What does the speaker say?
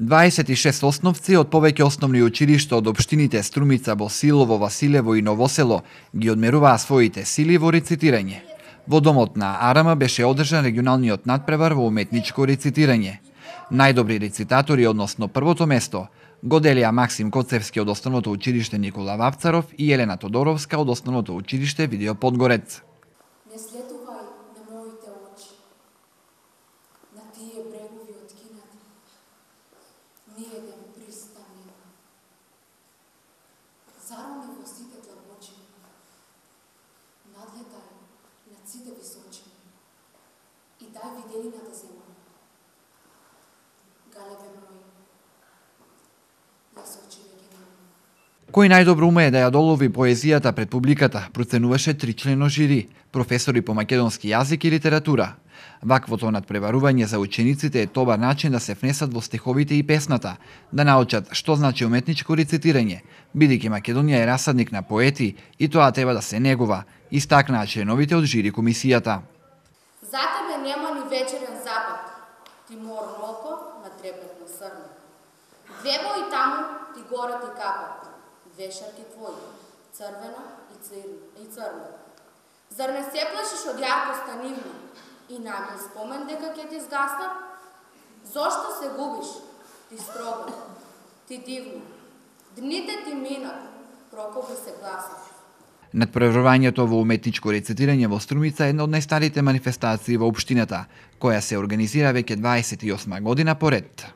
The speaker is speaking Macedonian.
26 основци од повеќе основни училишта од општините Струмица, Босилово, Василево и Новосело ги одмеруваа своите сили во рецитирање. Во домот на Арама беше одржан регионалниот надпревар во уметничко рецитирање. Најдобри рецитатори, односно првото место, го делија Максим Коцевски од Основното училиште Никола Вапцаров и Елена Тодоровска од Основното училиште Видео Подгорец. Не следувај на моите очи, на тие брегови откинати, ниеден пристан нема. Зарони во сите длабочини, надлетај над сите височини и дај виделината зема. Галебе мој, јас очи веќе немам. Кој најдобро умее да ја долови поезијата пред публиката, проценуваше тричлено жири, професори по македонски јазик и литература. Ваквото надпреварување за учениците е добар начин да се внесат во стиховите и песната, да научат што значи уметничко рецитирање, бидејќи Македонија е расадник на поети и тоа треба да се негува, истакнаа членовите од жири комисијата. За тебе нема ни вечерен запад, ти морно око на трепетно срне. Две бои таму ти горе ти капат, две шарки твои, црвена и црна. Зар не се плашиш од јаркоста нивна и најмал спомен дека ќе ти згаснат? Зошто се губиш? Ти строга, ти дивна. Дните ти минат, прокопи се гласат. Надпреварувањето во уметничко рецитирање во Струмица е една од најстарите манифестации во општината, која се организира веќе 28 година поред.